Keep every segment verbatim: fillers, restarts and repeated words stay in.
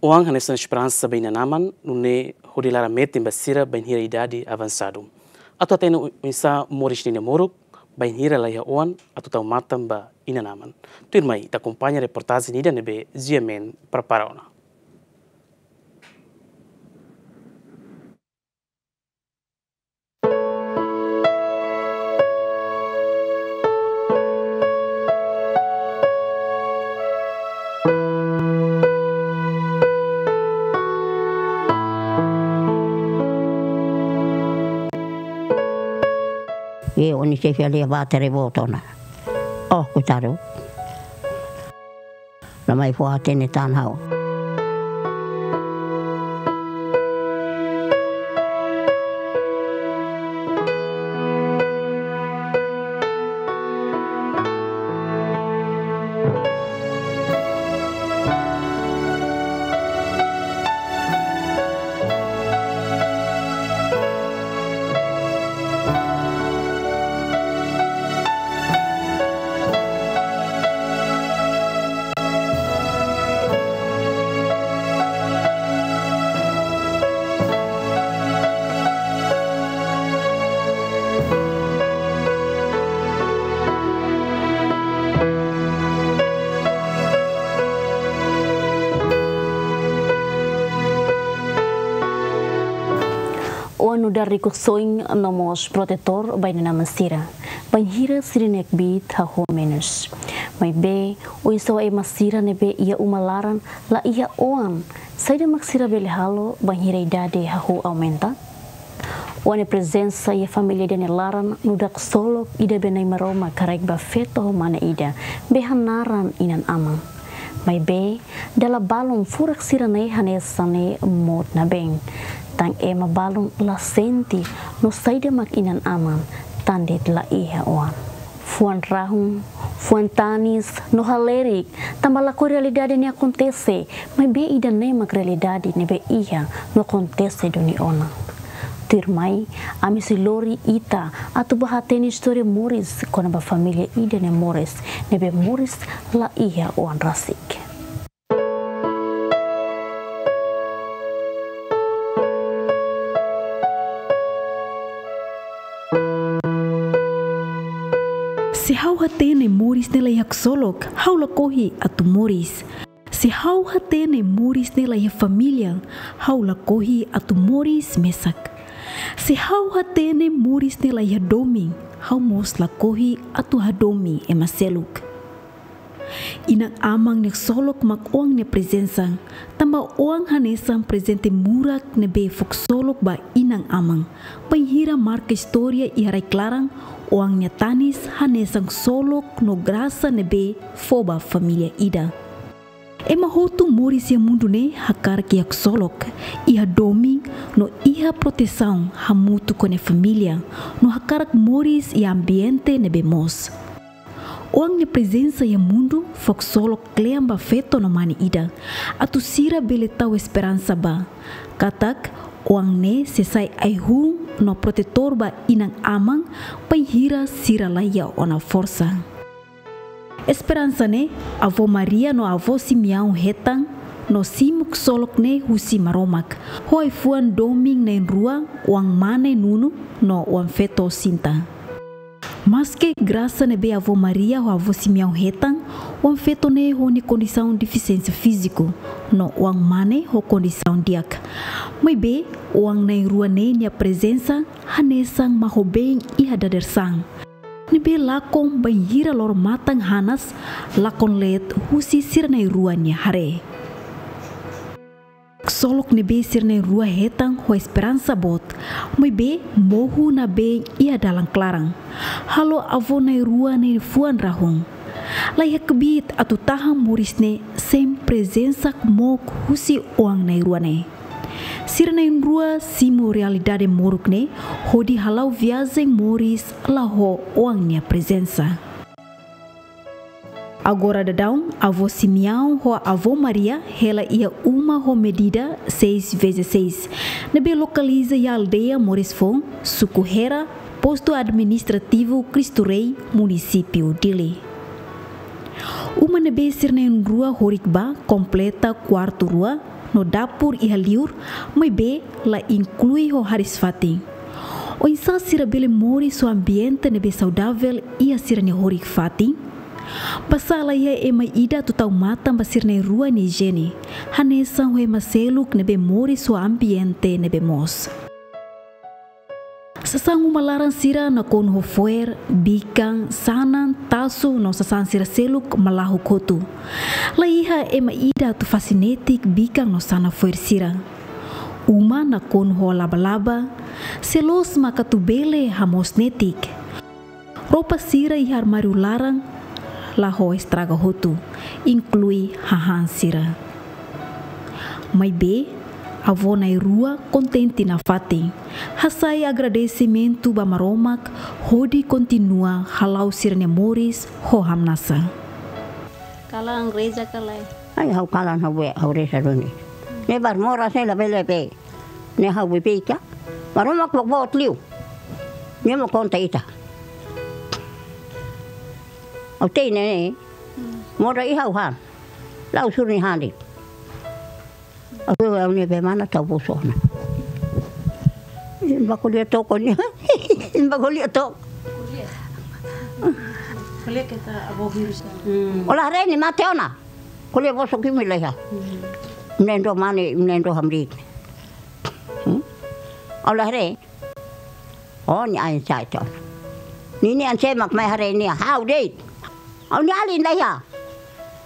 Oan hanesan esperansa ba inan-aman, nune'e hodi laran metin ba sira bainhira idade avansadu. Atu hatene oinsá moris nia namoruk, bainhira laiha oan atu tau matan ba inan-aman. Tuirmai ita akompaña reportajen ida ne'ebé G M N prepara ona. E, ó-nia xefe ali ba tere botona. Oh, koitadu. La mai fó hatene tan ha'u. Oan nu'udar rikusoin no mós protetór ba inan-aman sira, bainhira sira-nia kbiit hahú menus. Maibé, oinsá ema sira ne'ebé iha uma laran la iha oan, saida mak sira bele halo bainhira idade hahú aumenta? Oan nia prezensa iha família ida nia laran nu'udar ksolok ida be Na'i Maromak haraik ba feto ho mane ida be hanaran inan-aman. Maibé, dala balun furak sira-ne'e hanesan ne'e mout nabeen. Tan ema balun la sente no saida mak inan-aman tan de'it la iha oan. Fuan rahun, fuan tanis, no halerik, tanba lakohi realidade ne'e akontese, maibé ida-ne'e mak realidade ne'ebé iha no akontese duni ona. Tuirmai, ami sei lori ita atu bá hatene istória moris kona-ba família ida nia moris, ne'ebé moris la iha oan rasik. Se ha'u hatene moris ne'e la iha ksolok, ha'u lakohi atu moris. Se ha'u hatene moris ne'e la iha família, ha'u lakohi atu moris mesak. Se ha'u hatene moris ne'e la iha domin, ha'u mós lakohi atu hadomi ema seluk. Inan-aman nia ksolok mak oan nia prezensa, tanba oan hanesan prezente murak ne'ebé fó ksolok ba inan-aman. Bainhira marka istória iha rai-klaran, oan nia tanis hanesan ksolok no grasa ne'ebé fó ba família ida. Ema hotu moris iha mundu ne'e hakarak iha ksolok, iha domin no iha protesaun hamutuk ho nia família, no hakarak moris iha ambiente ne'ebé moos. Oan nia prezensa iha mundu fó ksolok kle'an ba feto no mane ida, atu sira bele tau esperansa ba katak oan ne'e sei sai ai-hun no protetór ba inan-aman bainhira sira laiha ona forsa. Esperansa ne'e, Avó Maria no Avó Simeão hetan no simu ksolok ne'e husi Maromak, ho ai-fuan domin na'in-rua, oan mane Nunu no oan feto Sinta. Maske grasa ne'ebé Avó Maria ho Avó Simeão hetan, oan feto ne'e ho nia kondisaun defisiénsia fíziku, no oan mane ho kondisaun di'ak. Maibé, oan na'in-rua ne'e nia prezensa hanesan mahobeen iha dadeer-saan, ne'ebé lakon bainhira loro-matan hanas, lakon leet husi sira na'in-rua nia haree. Ksolok ne'ebé sira na'in-rua hetan ho esperansa boot, maibé mohu nabeen iha dalan klaran, halo avó na'in-rua ne'e fuan rahun. Laiha kbiit atu tahan moris ne'e sein prezensa mook husi oan na'in-rua ne'e. Sira na'in-rua simu realidade moruk ne'e hodi hala'o viajen moris la ho oan nia prezensa. Agora daudaun, Avó Simeão ho Avó Maria hela iha uma ho medida seis vezes seis, ne'ebé lokaliza iha aldeia Moris Foun, suku Hera, postu administrativu Cristo Rei, munisípiu Dili. Uma ne'ebé sira na'in-rua horik ba kompleta kuartu rua, no dapur iha liur, maibé la inklui ho hariis-fatin. Oinsá sira bele moris ho ambiente ne'ebé saudavel iha sira-nia horik-fatin? Basá la iha ema ida atu tau matan ba sira na'in-rua nia ijiene, hanesan ho ema seluk ne'ebé moris ho ambiente ne'ebé moos. Sasán uma laran sira nakonu ho fo'er, bikan, sanan, tasu no sasán sira seluk malahuk hotu. La iha ema ida atu fase netik bikan no sanan fo'er sira. Uma nakonu ho laba-laba, se loos maka atu bele hamoos netik. Roupa sira iha armáriu laran la ho estraga hotu, inklui hahán sira. Maibé, avó na'in-rua kontente nafatin, hasai agradesimentu ba Maromak hodi kontinua hala'o sira-nia moris ho hamnasa. Kalan reza ka lae? Ai, ha'u kalan, ha'u be, ha'u reza duni. Ne'e bainhira moras ne'e labele be. Ne'e ha'u beibeik ka. Maromak boot liu. Nia mak konta ita. Ha'u te'in ne'e. Modo iha ha'u han. La'ós suri han de'it. Ha'u, ha'u-nia be mana tau bolsu ona. Imi bá ko'alia took ne'e. Imi bá ko'alia took. Ko'alia keta avó vírus. Hmm. Ó la haree nia mate ona. Ko'alia bosok imi la iha. Hmm. Imi na'in-rua mane, imi na'in-rua hamriik. Hmm? Ó la haree. Ó, nia ain sa'e tiha ona. Ninia an sé mak mai haree nia, ha'u de'it. Ha'u-nia alin la iha.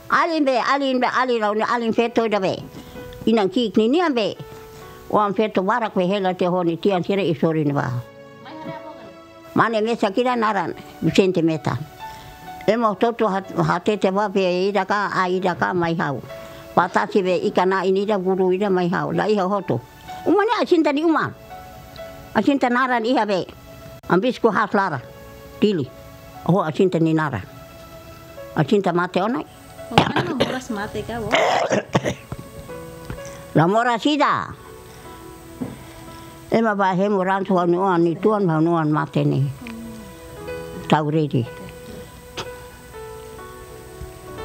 Alin be, alin be, alin, ha'u-nia alin feto ida be. Inan ki'ik ninian be. Oan feto barak be hela tiha ho nia tian sira iha sorin ne'ebá. Mane mesak ida naran Vicente Meta. Ema hotu-hotu hat-, hatete ba be ida ka, a ida ka mai ha'u. Patasi be ikan-na'in ida, guru ida mai ha'u. La iha hotu. Uma ne'e asin-ta nia uma. Asin-ta naran iha be. Ambis ku has laran. Dili. Ho asin-ta nia naran. Asin-ta mate ona. Ó, ema moras mate ka, ó? La moras ida. Ema bá hemu ransu ha'u-nia oan, nia tuan ha'u-nia oan mate ne'e. Tau redi.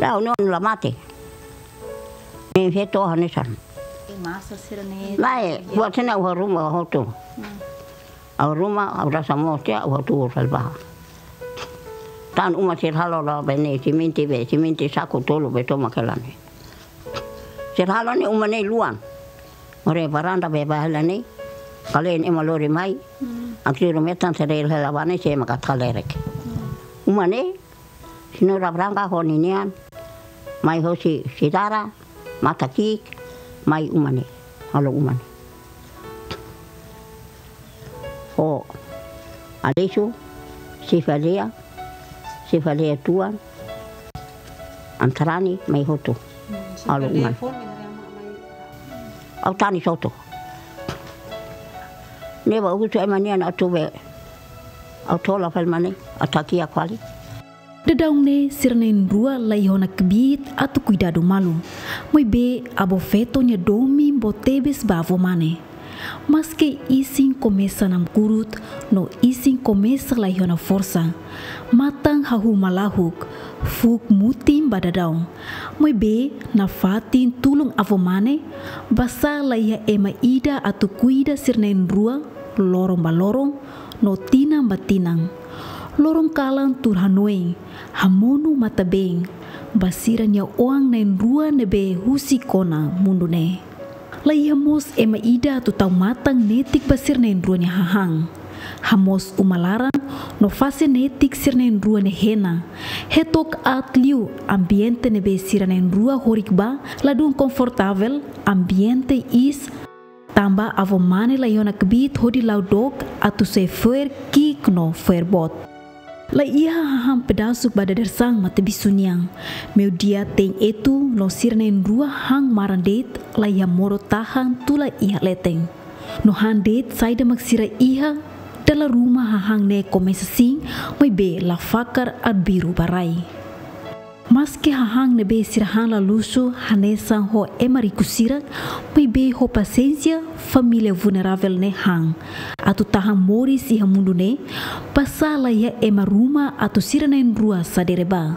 La, ha'u-nia oan la mate. Ne'e feto hanesan. Masa sira ne'e. Lae, buat sena ha'u haruma hotu. Hmm. Ha'u haruma, ha'u rasa moos tiha, ha'u hatuur fali bá. Tan uma sira halo la be ne'e, simente be, simente saku tolu be tomak hela ne'e. Sira halo ne'e uma ne'e luan. Ore varanda be bá hela ne'e. Kalen ema lori mai. Hmm. Aktiru metan sira hela bá ne'e, sé maka atu kalerek. Hmm. Uma ne'e, Senhora Branca ho ninian, mai hosi Sidara, Mata Ki'ik, mai uma ne'e, halo uma ne'e. Ho Aleixo, Sifale'a, Sifale'a tuan, Antarani, mai hotu. Hmm, halo uma ne'e. Sifale'a foin mai haree ama mai. Ha'u tanis hotu. Ne'ebá husu ema nian atu be. Ha'u tola fali mane, ha'u takia fali. Daudaun ne'e sira na'in-rua la iha ona kbiit atu kuidadu malu. Maibé avó feto nia domin boot tebes ba avó mane. Maske isin komesa namkurut, no isin komesa la iha ona forsa. Matan hahú malahuk, fuuk mutin ba daudaun. Maibé nafatin tulun avó mane, basá la iha ema ida atu kuida sira na'in-rua, loron ba loron, no tinan ba tinan. Loron kalan tuur hanoin, hamonu matan-been ba sira-nia oan na'in-rua ne'ebé husik ona mundu ne'e. La iha mós ema ida atu tau matan netik ba sira na'in-rua nia hahán. Hamoos uma laran no fase netik sira na'in-rua nia hena. Hetook aat liu ambiente ne'ebé sira na'in-rua horik bá, ladún konfortavel, ambiente iis, tanba avó mane la iha ona kbiit hodi la'o dook atu soe fo'er ki'ik no fo'er boot. La iha hahán pedasuk ba dadeer-saan matabixu nian. Meiudia tein etu no sira na'in-rua han maran de'it, la iha modo tahan tula iha leten. No han de'it saida mak sira iha, dala ruma hahán ne'e komesa siin, maibé la fakar arbiru ba rai. Maske hahán ne'ebé sira han la luxu hanesan ho ema riku sira, maibé ho pasiénsia família vulneravel ne'e han. Atu tahan moris iha mundu ne'e, basá la iha ema ruma atu sira na'in-rua sadere bá.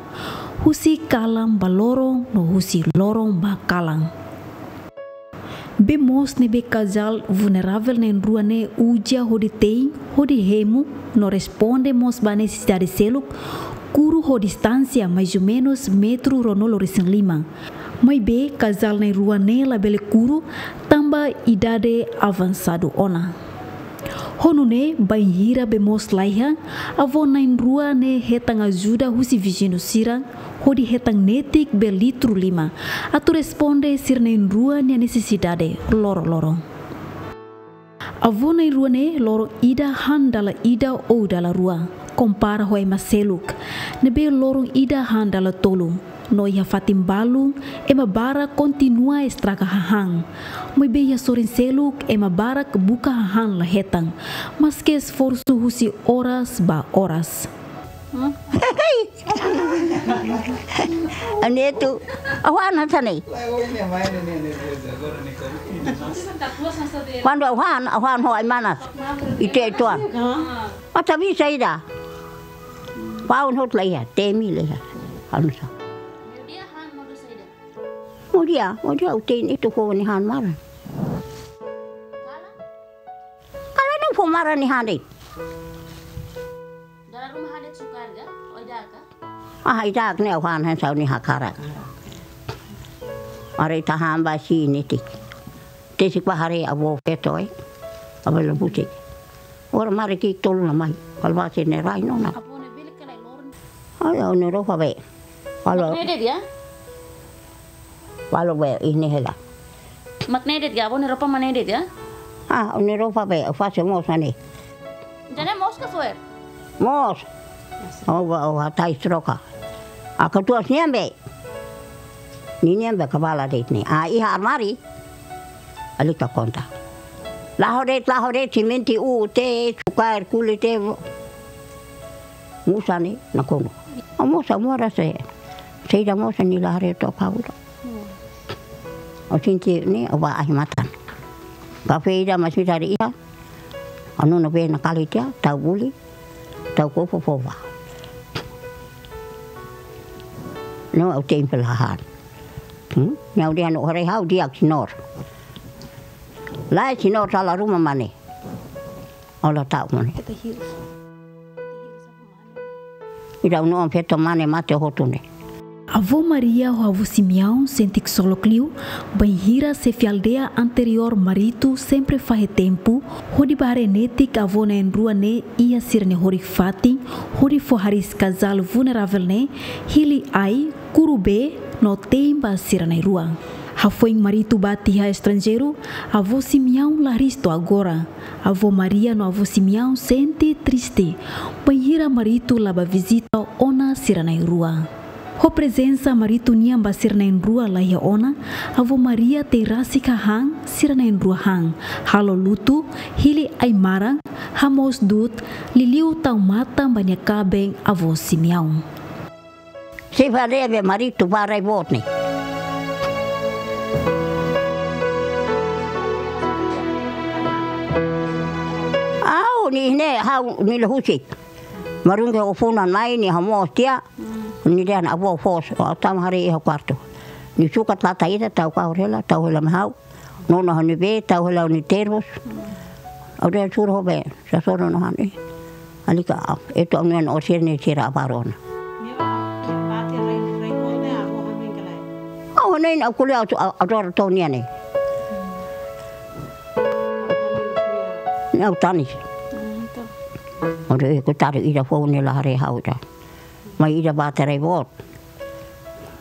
Husi kalan ba loron no husi loron ba kalan. Bee moos ne'ebé kazál vulneravel na'in-rua ne'e uza hodi tein, hodi hemu, no responde mós ba nesesidade seluk, kuru ho distánsia mais ou menus metru ruanulu-resin-lima. Maibé kazál na'in-rua ne'e labele kuru, tanba idade avansadu ona. Ho nune'e, bainhira bee moos laiha, avó na'in-rua ne'e hetan ajuda husi viziñu sira, hodi hetan netik bee litru lima, atu responde sira na'in-rua nia nesesidade loroloron. Avó na'in-rua ne'e loron ida han dala ida ou dala rua, kompara ho ema seluk, ne'ebé loron ida han dala tolu. No iha fatin balun, ema barak kontinua estraga hahán. Maibé iha sorin seluk, ema barak buka hahán la hetan, maske esforsu husi oras ba oras. Hmm? Anetu, awan hanesan ne'e. Kuandu awan, awan ho ai-manas. Ite tuan. Mata bisa ida. Paun hotu laiha, temi laiha. Anu sa. Modo dia, modo dia, uten itu fó nia han maran. Kala nia fó maran nia han de'it. Dala ruma han de'it sukaer ka? Ho ida ka? Ah, ida ne'e awan han sau nia hakarak. Haree ita han ba si netik. Tesik ba haree avó feto, eh. Avó la butik. Ora mari ki'ik tolu la mai. Kala ba si ne'e rai ona. Avó ne'e bele kala loron. Ai, ó-nia roupa bee. Halo. Mak ne'e de'it ka? Halo bee, ini hela. Mak ne'e de'it ka? Avó nia roupa mak ne'e de'it ka? Ah, ó-nia roupa bee, fase moos ne'e. Ida-ne'e moos ka fo'er? Moos. Oh, ba, oh, hatais troka. Aka tuas nian bee. Ninian bee kabala de'it ne'e. Ah, iha armáriu. Alika konta. La'o de'it, la'o de'it, simente, uu, te, sukaer, kuli, te. Moos ne'e nakonu. Ó moos, ó moras, eh. Saida moos nia la haree to'o ha'u. Ó sente ne'e, ó ba ahi matan. Kafé ida mak sira iha. Ó nonu bee nakali tiha, tau buli, tau kopu fó ba. No, ó tein fali hahán. Hmm? Nia ó dehan ó haree ha'u di'ak, señór. Lae, señór, sala ruma mak ne'e. Ó la ta'uk mak ne'e. Ita hirus. Ita hirus apa mak ne'e? Ida ó-nia oan feto mak ne'e mate hotu ne'e. Avó Maria ho avó Simeão sente ksolok liu, bainhira xefe aldeia anteriór Marito sempre fahe tempu hodi bá haree netik avó na'in-rua ne'e iha sira-nia horik-fatin, hodi fó hariis kazál vulneravel ne'e, hili ai, kuru bee, no tein ba sira na'in-rua. Hafoin Marito bá tiha estranjeiru, avó Simeão la hariis to'o agora. Avó Maria no avó Simeão sente triste, bainhira Marito la bá vizita ona sira na'in-rua. Ho prezensa Marito nian ba sira na'in-rua laiha ona, avó Maria tei rasik hahán sira na'in-rua han, halo lutu, hili ai-maran, hamoos du'ut, liuliu tau matan ba nia kaben avó Simeão. Xefe aldeia be Marito bá rai boot ne'e. Ha'u ne'e, ne'e, ha'u ne'e la husik. Marunge ho funan mai nia hamoos tiha. Nia dehan avó foos, ó tama haree iha kuartu. Nia sukat lata ida tau kahur hela, tau hela mai ha'u. Nonu ha'u-nia bee, tau hela ha'u-nia termos. Ó dehan sura ho bee, sasoro no han eh. Alika, etu ha'u-nia oan orsir ne'e sira abarona. Ha'u ne'e ha'u ko'alia ha'u, ha'u adora to'o nia ne'e. Ne'e ha'u tanis. Ó dehan, eh, koitadu ida foun ne'e la haree ha'u ida. Mai ida bá tiha rai boot.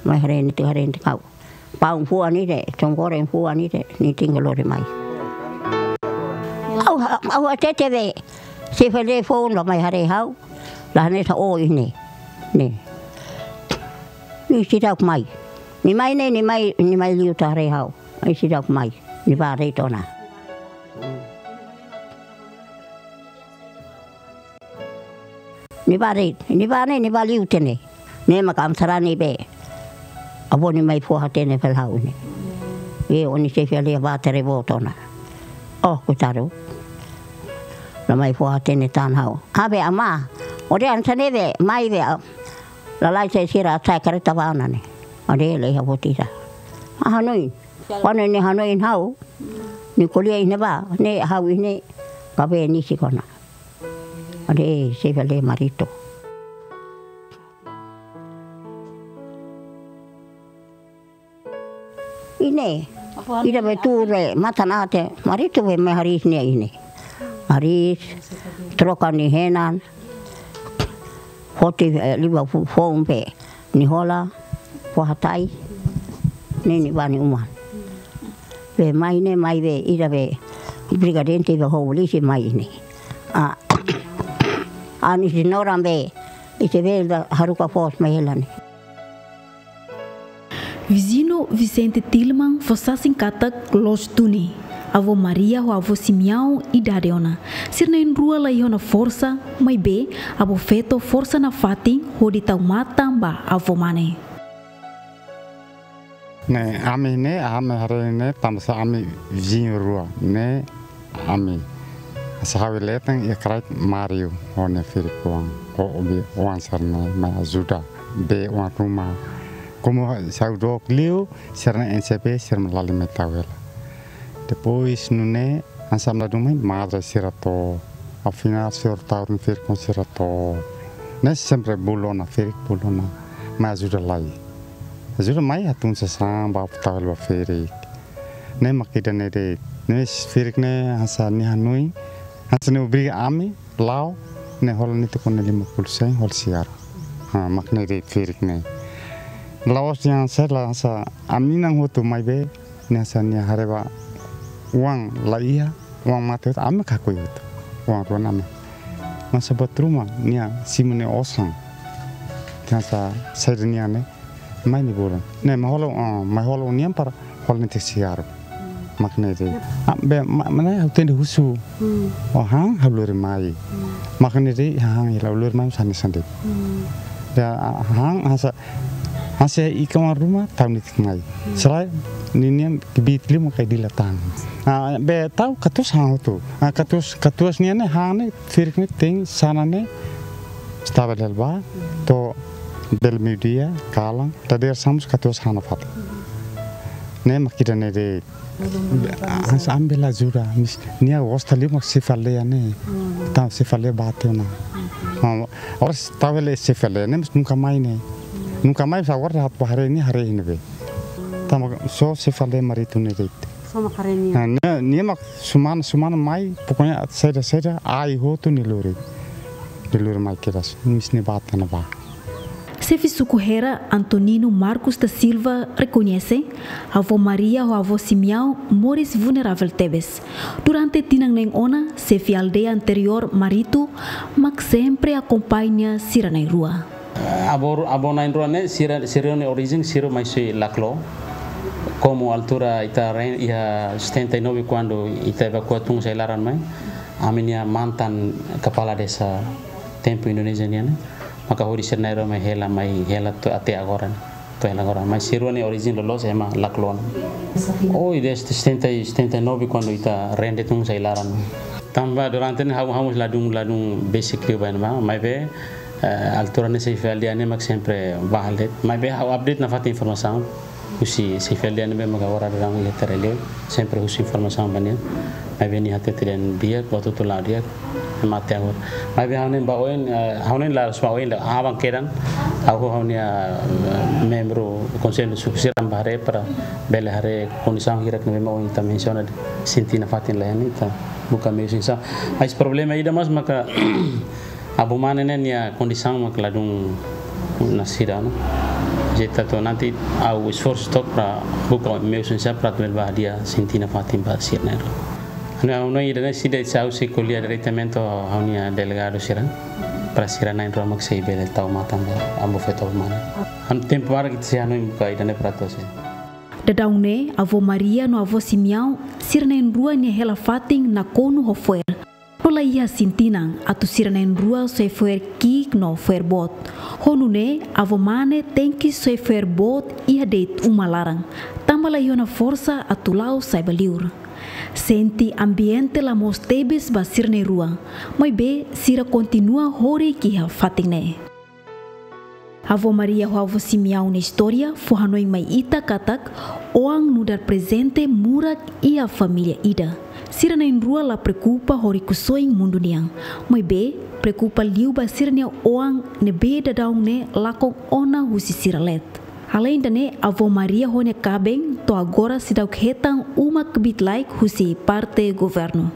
Mai haree netik, haree netik ha'u. Paun fuan ida, tong goreng fuan ida, nia tinggal lori mai. Ha'u, ha'u hatete be, xefe aldeia foun la mai haree ha'u, la hanesan ó iha ne'e. Ne'e. Nia seidauk mai. Nia mai ne'e, nia mai, nia mai liu atu haree ha'u. Mai seidauk mai. Nia bá de'it ona. Nia bá de'it, nia bá ne'e, nia bá liu tiha ne'e. Ne'e mak ami sarani be. Avó nia mai fó-hatene fali ha'u ne'e. Be ó-nia xefe aldeia bá tiha rai boot ona. Oh, koitadu. La mai fó-hatene tan ha'u. Ha'u be amá. Ó dehan hanesan ne'e be, mai be, ah, lalais sira sa'e karreta bá ona ne'e. Ó dehan laiha buat ida. Ah, hanoin. Kuandu nia hanoin ha'u, Nia ko'alia iha ne'ebá, ne'e ha'u iha ne'e, kabe nia sei kona. Ade, sei bele maritu. Iha ne'e, ida be tuur matan aat, maritu be mai hariis nia iha ne'e. Hariis, troka nia henan, foti, eh, liba fu-, foun be, nia hola, fó hatais, ne'e nia bá nia uma. Be mai ne'e, mai be, ida be, brigadente be ho polísia mai ne'e. Ah, ami senhora be, ita be da haruka foos mai hela ne'e. Viziñu Vicente Tilman fó sasin katak loos duni. Avó Maria ho avó Simeão idade ona. Sira na'in-rua la iha ona forsa, maibé avó feto forsa nafatin hodi tau matan ba avó mane. Ne'e, ami ne'e, ami haree ne'e, tanbasá ami viziñu rua. Ne'e, ami. Hanesan ha'u iha leten iha kraik Mário, ho nia ferik-oan, ho obi-oan sira-ne'e, mai ajuda, be oan ruma. Komu sa'e dook liu, sira-nia N C B, sira mak lori mai tau hela. Depois, nune'e, hanesan ami ladún mai, madre sira to'o, afinál, señór tau nia ferik-oan sira to'o. Ne'e sempre bolu ona, ferik bolu ona, mai ajuda lai. Ajuda mai hatún sasán, bá tau hela ba ferik. Ne'e mak ida-ne'e de'it. Ne'e ferik ne'e hanesan nia hanoin. Hanesan nia obriga ami, la'o, ne'e hola netik ona lima puluh sen, hola siar. Ha, mak ne'e de'it ferik ne'e. La'ós dehan hanesan la hanesan ami-nia an hotu maibé, ne'e hanesan nia haree ba oan la iha, oan mate hotu, ami mak hakoi hotu. Oan rua ne'e ami. Masa buat ruma, nia simu nia osan. Hanesan saida nian ne'e. Mai nia bolu. Ne'e, mai hola, ah, mai hola ó-nian para hola netik siar. Mak ne'e de'it. Ah, be, ma, mana ha'u tenke husu. Hmm. Ó han, ha'u lori mai. Hmm. Mak ne'e de'it, hahán hela ha'u lori mai, hanesan ne'e hanesan de'it. Hmm. Ya, ah, han, hanesan, hanesan iha oan ruma, tau netik mai. Hmm. Selae, ninian kbiit liu mak ai dila tan. Ah, be tau katuas han hotu. Ah, katuas, katuas nian ne'e han ne'e, ferik ne'e, te'in sanan ne'e, estaba del ba, to'o bele meiudia, kalan, dadeer-saan mós katuas han nafatin. Ne'e mak ida-ne'e de'it. Hanesan ami bele ajuda, maibé nia gosta liu mak xefe aldeia ne'e. Hmm. Entaun xefe aldeia bá tiha ona. Hmm. Ah, oras tau hela xefe aldeia ne'e, maibé nunka mai ne'e. Hmm. Nunka mai, sá agora ha'u bá haree nia, haree iha ne'ebé. Entaun só xefe aldeia maritu ne'e de'it. Só mak haree nia. Ah, nia, nia mak semana, semana mai, pokoknya saida, saida, ai hotu nia lori. Nia lori mai kedas, maibé nia bá tiha ona bá. Xefe suku Hera, Antonino Marcos da Silva, rekoñese, avó Maria ho avó Simeão moris vulneravel tebes. Durante tinan neen ona, xefe aldeia anteriór maritu mak sempre akompaña sira na'in-rua. Avó, avó na'in-rua ne'e, sira, sira-nia orijen, sira mai husi Laclo. Komu altura ita ren-, iha setenta e nove, kuandu ita evakua tun husi ai-laran mai, ami-nia mantan kepala desa tempu Indonézia nian ne'e, maka hodi sira na'in-rua mai hela, mai hela to'o até agora ne'e. To'o hela agora. Maibé sira-nia orijen loloos ema Laclo ona. Oh, desde setenta e, setenta e nove, kuandu ita rende tun husi ai-laran. Tanba durante ne'e ha'u, ha'u mós ladún, ladún besik liu ba ne'ebá, maibé, eh, altura ne'e xefe aldeia ne'e mak sempre bá hela de'it. Maibé ha'u update nafatin informasaun husi xefe aldeia ne'ebé mak agora daudaun iha Tereleu, sempre husu informasaun ba nia. Maibé nia hatete dehan di'ak, buat hotu la'o di'ak, ema até agora. Maibé ha'u-nia ba oin, eh, ha'u-nia laras ba oin, la aban kedan, ha'u, ha'u-nia, eh, membru konsellu suku sira bá haree para bele haree kondisaun hirak ne'ebé mak oin ita mensiona, sente nafatin la iha ne'e, ita buka meius oinsá. Maibé problema ida mós maka avó mane ne'e nia kondisaun mak ladún nasida ona. Jeta to nanti ha'u esforsu took para buka meius oinsá para atu bele bá hadi'a sente nafatin ba sira na'in-rua. Ha'u-nia, ha'u-nia ida-ne'e, se ida, se ha'u sei ko'alia diretamente ho ha'u-nia delegadu sira, para sira na'in-rua mak sei bele tau matan ba avó feto avó mane. Ha'u tempu barak ita sei hanoin buka ida-ne'e para atu sei. Daudaun ne'e, avó Maria no avó Simeão, sira na'in-rua nia hela fatin nakonu ho fo'er. No la iha isin-tinan atu sira na'in-rua soe fo'er ki'ik no fo'er boot. Ho nune'e, avó mane tenke soe fo'er boot iha de'it uma laran, tanba la iha ona forsa atu la'o sai ba liur. Sente ambiente la moos tebes ba sira na'in-rua, maibé sira kontinua horik iha fatin ne'e. Avó Maria ho avó Simeão nia istória fó hanoin mai ita katak oan nu'udar prezente murak iha família ida. Sira na'in-rua la preokupa ho rikusoin mundu nian, maibé preokupa liu ba sira-nia oan ne'ebé daudaun ne'e lakon ona husi sira leet. Aleinde ne'e, avó Maria ho nia kaben to'o agora seidauk hetan uma kbiit-laek husi parte governu.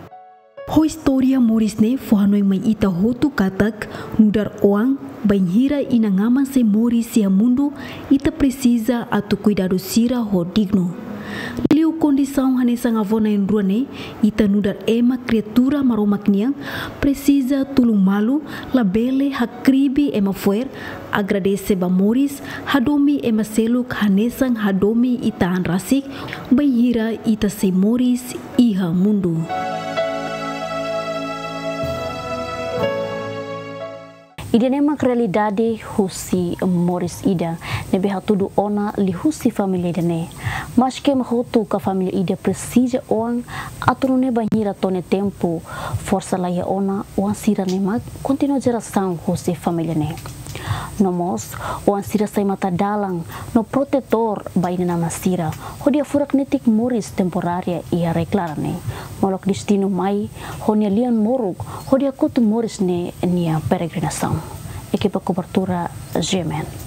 Ho istória moris ne'e fó hanoin mai ita hotu katak nu'udar oan, bainhira inan-aman sei moris iha mundu, ita presiza atu kuidadu sira ho dignu. Liu kondisaun hanesan avó na'in-rua ne'e, ita nu'udar ema kriatura Maromak nian presiza tulun malu, labele hakribi ema fo'er, agradese ba moris, hadomi ema seluk hanesan hadomi ita an rasik, bainhira ita sei moris iha mundu. Ida-ne'e mak realidade husi moris ida ne'ebé hatudu ona liuhusi família ida-ne'e. Maske ema hotu ka família ida presiza oan atu nune'e bainhira to'o nia tempu, forsa la iha ona, oan sira-ne'e mak kontinua jerasaun husi família ne'e. No mós, oan sira sai matadalan no protetór ba inan-aman sira, hodi hafurak netik moris temporária iha rai-klaran ne'e, molok destinu mai ho nia lian moruk hodi hakotu moris ne'e nia peregrinasaun. Ekipa kobertura G M N.